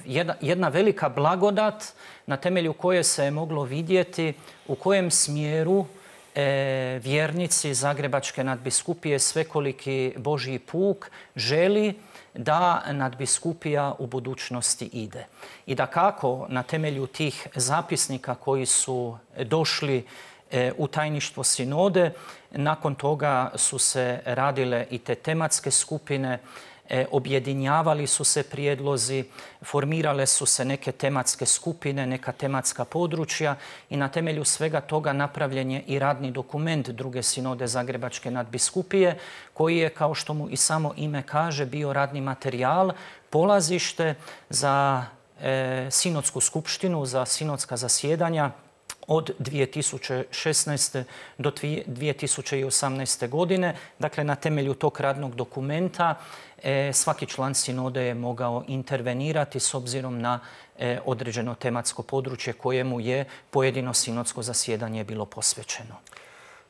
jedna, jedna velika blagodat na temelju koje se je moglo vidjeti u kojem smjeru e, vjernici Zagrebačke nadbiskupije Svekoliki Božji puk želi da nadbiskupija u budućnosti ide. I da kako na temelju tih zapisnika koji su došli u tajništvo sinode, nakon toga su se radile i te tematske skupine, objedinjavali su se prijedlozi, formirale su se neke tematske skupine, neka tematska područja i na temelju svega toga napravljen je i radni dokument druge sinode Zagrebačke nadbiskupije koji je, kao što mu i samo ime kaže, bio radni materijal, polazište za e, sinodsku skupštinu, za sinodska zasjedanja od dvije tisuće šesnaeste do dvije tisuće osamnaeste. godine. Dakle, na temelju tog radnog dokumenta e, svaki član sinode je mogao intervenirati s obzirom na e, određeno tematsko područje kojemu je pojedino sinodsko zasjedanje bilo posvećeno.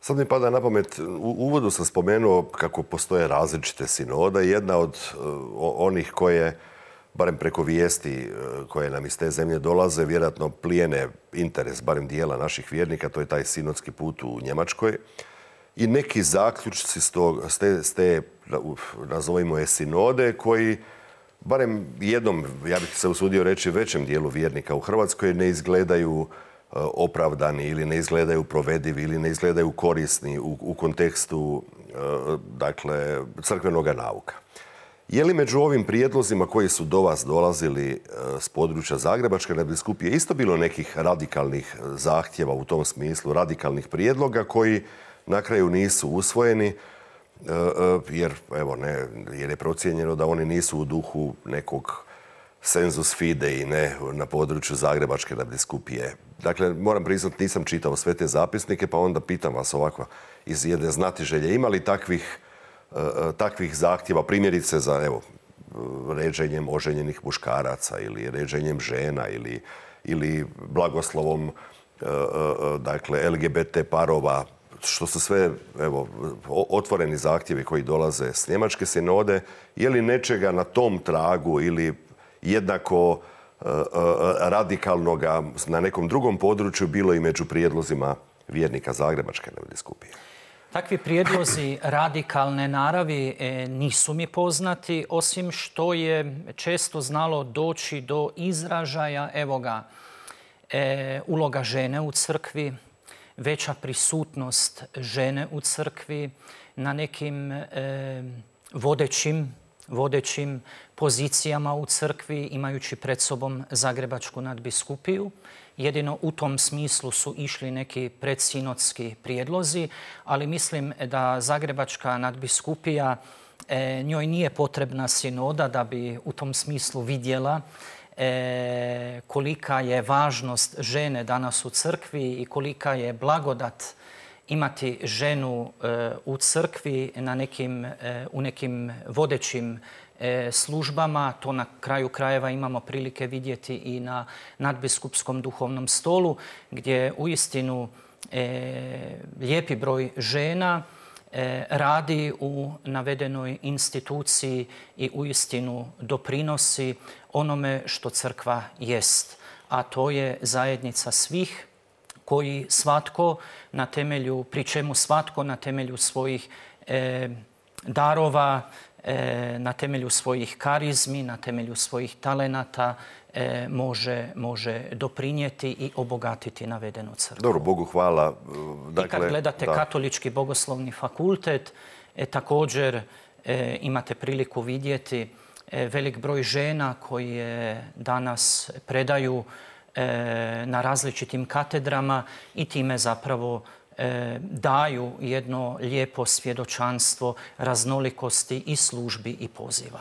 Sad mi pada na pamet, u uvodu sam spomenuo kako postoje različite sinode. Jedna od uh, onih koje, barem preko vijesti koje nam iz te zemlje dolaze, vjerojatno plijene interes barem dijela naših vjernika, to je taj sinodski put u Njemačkoj. I neki zaključci s, tog, s te, s te nazovimo je sinode, koji barem jednom, ja bih se usudio reći, većem dijelu vjernika u Hrvatskoj ne izgledaju opravdani ili ne izgledaju provedivi ili ne izgledaju korisni u, u kontekstu dakle, crkvenoga nauka. Je li među ovim prijedlozima koji su do vas dolazili s područja Zagrebačke nadbiskupije isto bilo nekih radikalnih zahtjeva u tom smislu, radikalnih prijedloga koji na kraju nisu usvojeni, jer, evo, ne, jer je procijenjeno da oni nisu u duhu nekog sensus fidei, ne, na području Zagrebačke nadbiskupije. Dakle, moram priznati, nisam čitao sve te zapisnike, pa onda pitam vas ovako iz jedne znatiželje, ima li takvih takvih zahtjeva, primjerice za, evo, ređenjem oženjenih muškaraca ili ređenjem žena ili, ili blagoslovom dakle, L G B T parova, što su sve, evo, otvoreni zahtjevi koji dolaze s Njemačke sinode. Je li nečega na tom tragu ili jednako radikalnoga na nekom drugom području bilo i među prijedlozima vjernika Zagrebačke nadbiskupije? Takvi prijedlozi radikalne naravi nisu mi poznati, osim što je često znalo doći do izražaja, evo ga, e, uloga žene u crkvi, veća prisutnost žene u crkvi na nekim e, vodećim, vodećim pozicijama u crkvi, imajući pred sobom Zagrebačku nadbiskupiju. Jedino u tom smislu su išli neki predsinodski prijedlozi, ali mislim da Zagrebačka nadbiskupija, e, njoj nije potrebna sinoda da bi u tom smislu vidjela e, kolika je važnost žene danas u crkvi i kolika je blagodat imati ženu e, u crkvi na nekim, e, u nekim vodećim službama. To na kraju krajeva imamo prilike vidjeti i na nadbiskupskom duhovnom stolu, gdje uistinu e, lijepi broj žena e, radi u navedenoj instituciji i uistinu doprinosi onome što crkva jest. A to je zajednica svih koji svatko na temelju, pri čemu svatko na temelju svojih e, darova, e, na temelju svojih karizmi, na temelju svojih talenata e, može, može doprinijeti i obogatiti navedenu crkvu. Dobro, Bogu hvala. Dakle, I kad gledate da. Katolički bogoslovni fakultet, e, također e, imate priliku vidjeti e, velik broj žena koje danas predaju na različitim katedrama i time zapravo e, daju jedno lijepo svjedočanstvo raznolikosti i službi i poziva.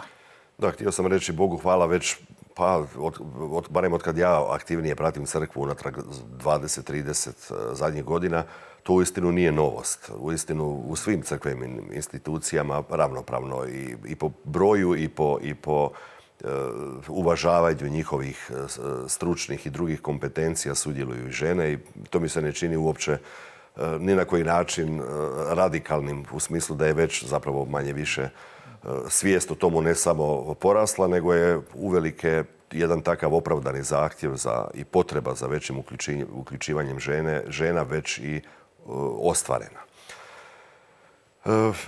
Da, htio sam reći Bogu hvala već, pa, od, od, barem od kad ja aktivnije pratim crkvu unatrag dvadeset trideset zadnjih godina, to uistinu nije novost. Uistinu u svim crkvenim institucijama ravnopravno i, i po broju i po, i po uvažavanju njihovih stručnih i drugih kompetencija sudjeluju i žene i to mi se ne čini uopće ni na koji način radikalnim u smislu da je već zapravo manje više svijest o tomu ne samo porasla, nego je uvelike jedan takav opravdani zahtjev za, i potreba za većim uključivanjem žene, žena već i ostvarena.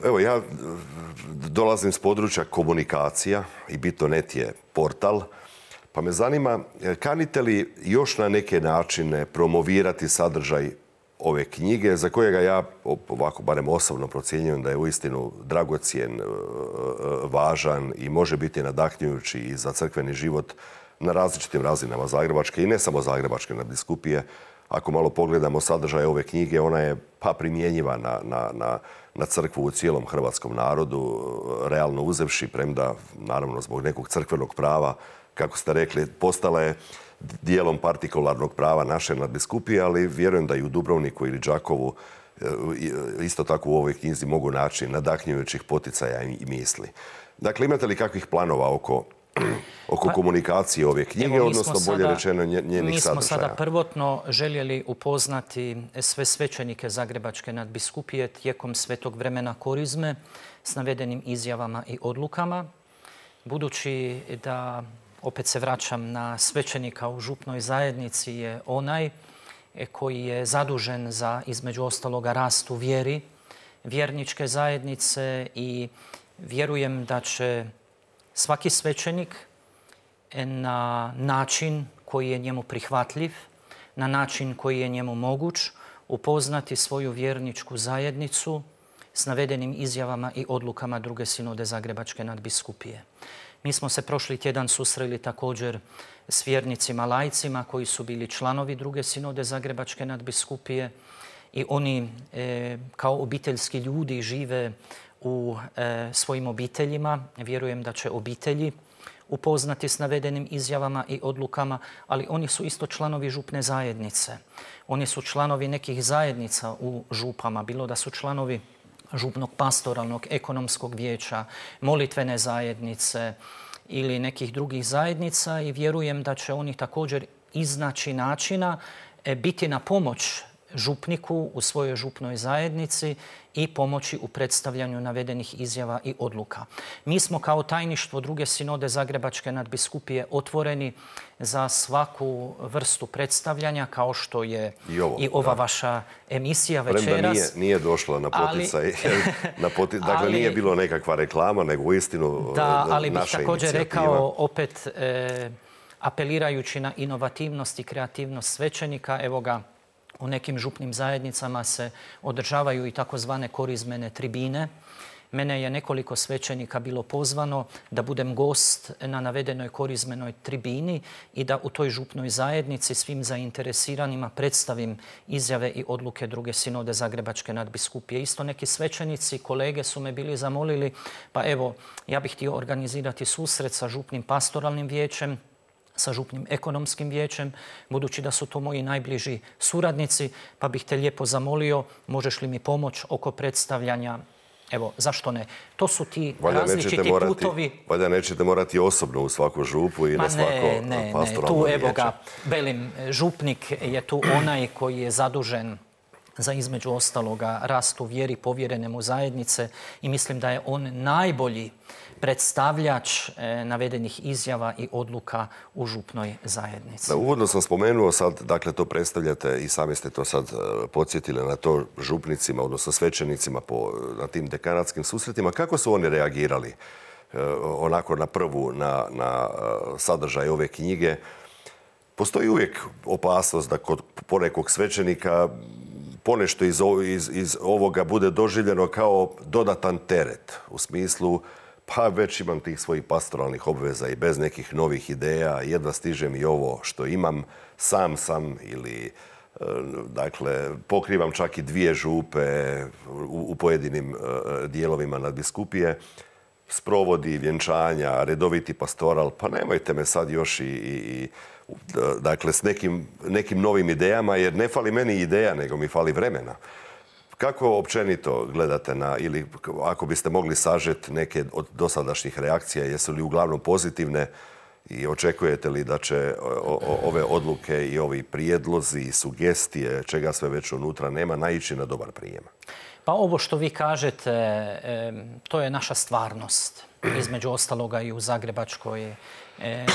Evo, ja dolazim s područja komunikacija i Bitnonet je portal, pa me zanima kanite li još na neke načine promovirati sadržaj ove knjige za kojega ja ovako barem osobno procjenjujem da je uistinu dragocjen, važan i može biti nadahnjujući i za crkveni život na različitim razinama Zagrebačke i ne samo Zagrebačke nadbiskupije. Ako malo pogledamo sadržaj ove knjige, ona je pa primjenjiva na, na, na, na crkvu u cijelom hrvatskom narodu, realno uzevši, premda, naravno, zbog nekog crkvenog prava, kako ste rekli, postala je dijelom partikularnog prava naše nadbiskupije, ali vjerujem da i u Dubrovniku ili Đakovu isto tako u ovoj knjizi mogu naći nadahnjujućih poticaja i misli. Dakle, imate li kakvih planova oko oko pa, komunikacije ove knjige, evo, odnosno bolje sada, rečeno njenih sadržaja? Mi smo sada prvotno željeli upoznati sve svećenike Zagrebačke nadbiskupije tijekom svetog vremena korizme s navedenim izjavama i odlukama. Budući da, opet se vraćam na svećenika u župnoj zajednici, je onaj koji je zadužen za, između ostaloga, rast u vjeri, vjerničke zajednice i vjerujem da će svaki svećenik na način koji je njemu prihvatljiv, na način koji je njemu moguć, upoznati svoju vjerničku zajednicu s navedenim izjavama i odlukama druge sinode Zagrebačke nadbiskupije. Mi smo se prošli tjedan susreli također s vjernicima lajcima koji su bili članovi druge sinode Zagrebačke nadbiskupije i oni e, kao obiteljski ljudi žive u e, svojim obiteljima. Vjerujem da će obitelji upoznati s navedenim izjavama i odlukama, ali oni su isto članovi župne zajednice. Oni su članovi nekih zajednica u župama, bilo da su članovi župnog pastoralnog, ekonomskog vijeća, molitvene zajednice ili nekih drugih zajednica i vjerujem da će oni također iznaći načina e, biti na pomoć župniku u svojoj župnoj zajednici i pomoći u predstavljanju navedenih izjava i odluka. Mi smo kao tajništvo druge sinode Zagrebačke nadbiskupije otvoreni za svaku vrstu predstavljanja, kao što je i, ovo, i ova da. vaša emisija večeras. Premda nije, nije došla na poticaj. Ali, na poti, dakle, ali, nije bilo nekakva reklama, nego uistinu da, ali bih naša također inicijativa. rekao, opet e, apelirajući na inovativnost i kreativnost svećenika, evo ga, u nekim župnim zajednicama se održavaju i takozvane korizmene tribine. Mene je nekoliko svećenika bilo pozvano da budem gost na navedenoj korizmenoj tribini i da u toj župnoj zajednici svim zainteresiranima predstavim izjave i odluke druge sinode Zagrebačke nadbiskupije. Isto neki svećenici, kolege su me bili zamolili, pa evo, ja bih htio organizirati susret sa župnim pastoralnim vijećem, sa župnim ekonomskim vijećem, budući da su to moji najbliži suradnici, pa bih te lijepo zamolio, možeš li mi pomoć oko predstavljanja. Evo, zašto ne? To su ti valjda različiti morati, putovi. Valjda nećete morati osobno u svaku župu i Ma na svako ne, ne, pastoralno ne. Tu, vijeće. Evo ga, belim, župnik je tu onaj koji je zadužen za između ostaloga rast u vjeri povjerene mu zajednice i mislim da je on najbolji predstavljač navedenih izjava i odluka u župnoj zajednici. Da, uvodno sam spomenuo sad, dakle to predstavljate i sami ste to sad podsjetili na to župnicima, odnosno svećenicima po, na tim dekanatskim susretima. Kako su oni reagirali onako na prvu, na, na sadržaj ove knjige? Postoji uvijek opasnost da kod ponekog svećenika ponešto iz, iz, iz ovoga bude doživljeno kao dodatan teret u smislu pa već imam tih svojih pastoralnih obveza i bez nekih novih ideja, jedva stižem i ovo što imam, sam sam ili dakle pokrivam čak i dvije župe u, u pojedinim dijelovima nadbiskupije, sprovodi, vjenčanja, redoviti pastoral, pa nemojte me sad još i, i, i dakle s nekim, nekim novim idejama, jer ne fali meni ideja, nego mi fali vremena. Kako općenito gledate na, ili ako biste mogli sažeti neke od dosadašnjih reakcija, jesu li uglavnom pozitivne i očekujete li da će ove odluke i ovi prijedlozi i sugestije, čega sve već unutra nema, naići na dobar prijem? Pa ovo što vi kažete, to je naša stvarnost. Između ostaloga i u Zagrebačkoj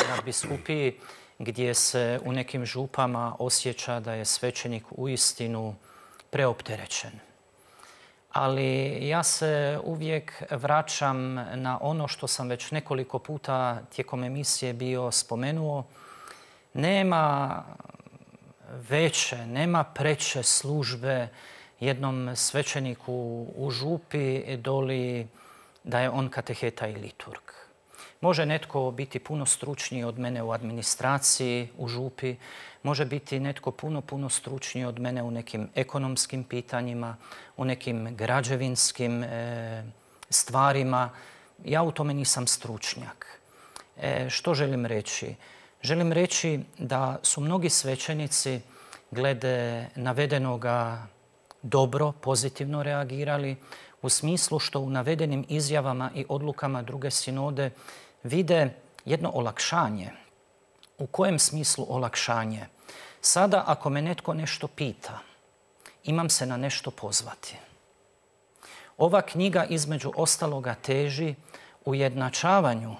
nadbiskupiji, gdje se u nekim župama osjeća da je svećenik uistinu preopterećen. Ali ja se uvijek vraćam na ono što sam već nekoliko puta tijekom emisije bio spomenuo. Nema veće, nema preče službe jednom svećeniku u župi doli da je on kateheta i liturg. Može netko biti puno stručniji od mene u administraciji u župi, može biti netko puno, puno stručniji od mene u nekim ekonomskim pitanjima, u nekim građevinskim e, stvarima. Ja u tome nisam stručnjak. E, što želim reći? Želim reći da su mnogi svećenici glede navedenoga dobro, pozitivno reagirali, u smislu što u navedenim izjavama i odlukama druge sinode vide jedno olakšanje. U kojem smislu olakšanje? Sada ako me netko nešto pita, imam se na nešto pozvati. Ova knjiga između ostaloga teži ujednačavanju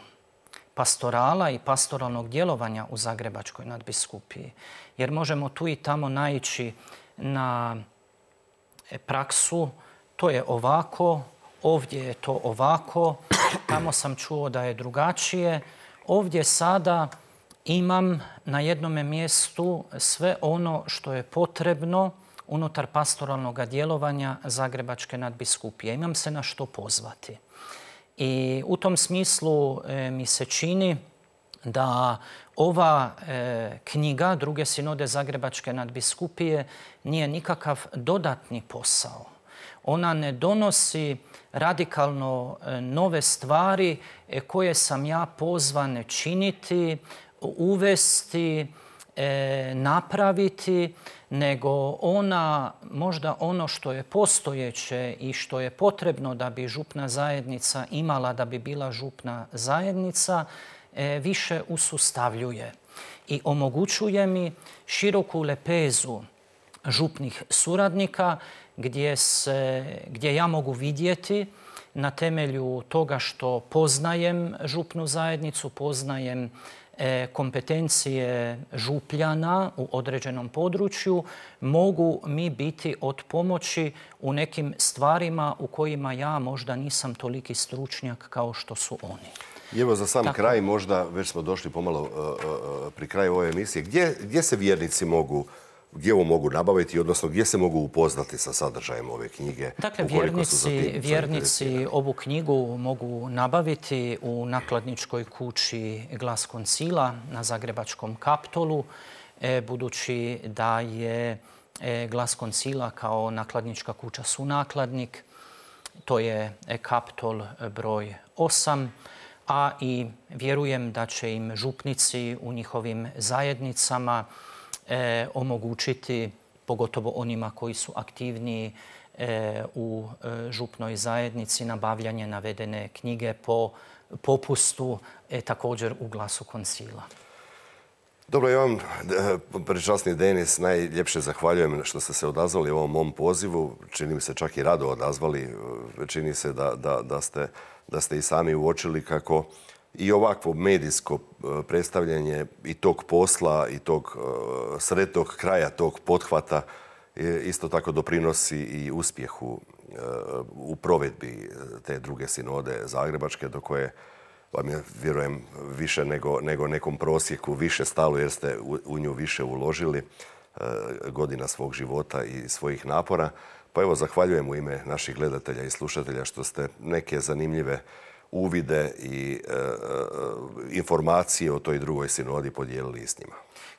pastorala i pastoralnog djelovanja u Zagrebačkoj nadbiskupiji. Jer možemo tu i tamo naići na praksu, to je ovako, ovdje je to ovako, tamo sam čuo da je drugačije. Ovdje sada imam na jednome mjestu sve ono što je potrebno unutar pastoralnog djelovanja Zagrebačke nadbiskupije. Imam se na što pozvati. I u tom smislu e, mi se čini da ova e, knjiga druge sinode Zagrebačke nadbiskupije nije nikakav dodatni posao. Ona ne donosi radikalno e, nove stvari e, koje sam ja pozvan činiti, uvesti, e, napraviti, nego ona, možda ono što je postojeće i što je potrebno da bi župna zajednica imala, da bi bila župna zajednica, e, više usustavljuje i omogućuje mi široku lepezu župnih suradnika gdje, se, gdje ja mogu vidjeti na temelju toga što poznajem župnu zajednicu, poznajem kompetencije župljana u određenom području, mogu mi biti od pomoći u nekim stvarima u kojima ja možda nisam toliki stručnjak kao što su oni. I evo za sam Tako. kraj, možda već smo došli pomalo uh, uh, pri kraju ove emisije, gdje, gdje se vjernici mogu gdje ovo mogu nabaviti, odnosno gdje se mogu upoznati sa sadržajem ove knjige? Dakle, vjernici, vjernici ovu knjigu mogu nabaviti u nakladničkoj kući Glas koncila na Zagrebačkom Kaptolu, e, budući da je e, Glas koncila kao nakladnička kuća sunakladnik. To je Kaptol broj osam, a i vjerujem da će im župnici u njihovim zajednicama E, omogućiti, pogotovo onima koji su aktivniji e, u e, župnoj zajednici, nabavljanje navedene knjige po popustu e, također u Glasu koncila. Dobro, ja vam, prečasni Denis, najljepše zahvaljujem što ste se odazvali ovom mom pozivu. Čini mi se čak i rado odazvali. Čini se da, da, da, ste, da ste i sami uočili kako i ovakvo medijsko predstavljanje i tog posla i tog sretnog kraja tog pothvata isto tako doprinosi i uspjehu u provedbi te druge sinode zagrebačke, do koje vam je, vjerujem, više nego, nego nekom prosjeku više stalo jer ste u, u nju više uložili e, godina svog života i svojih napora. Pa evo, zahvaljujem u ime naših gledatelja i slušatelja što ste neke zanimljive uvide i e, e, informacije o toj drugoj sinodi podijelili s njima.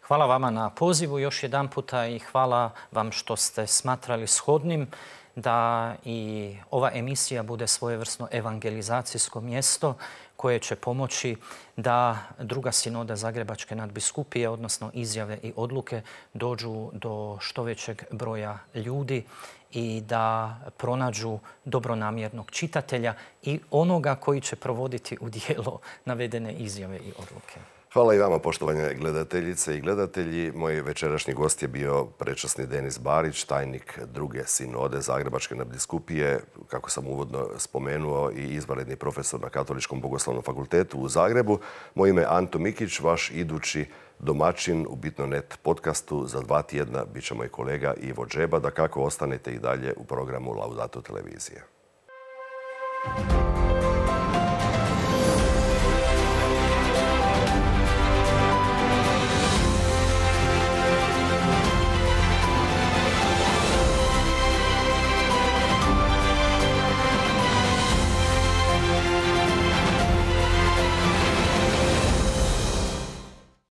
Hvala vama na pozivu još jedan puta i hvala vam što ste smatrali shodnim da i ova emisija bude svojevrsno evangelizacijsko mjesto koje će pomoći da druga sinoda Zagrebačke nadbiskupije, odnosno izjave i odluke, dođu do što većeg broja ljudi i da pronađu dobronamjernog čitatelja i onoga koji će provoditi u djelo navedene izjave i odluke. Hvala i vama, poštovane gledateljice i gledatelji. Moj večerašnji gost je bio prečasni Denis Barić, tajnik druge sinode Zagrebačke nadbiskupije, kako sam uvodno spomenuo, i izvanredni profesor na Katoličkom bogoslovnom fakultetu u Zagrebu. Moje ime je Anto Mikić, vaš idući domaćin u Bitno punkt net podcastu. Za dva tjedna bit će moj kolega Ivo Džeba, da kako ostanete i dalje u programu Laudato televizije.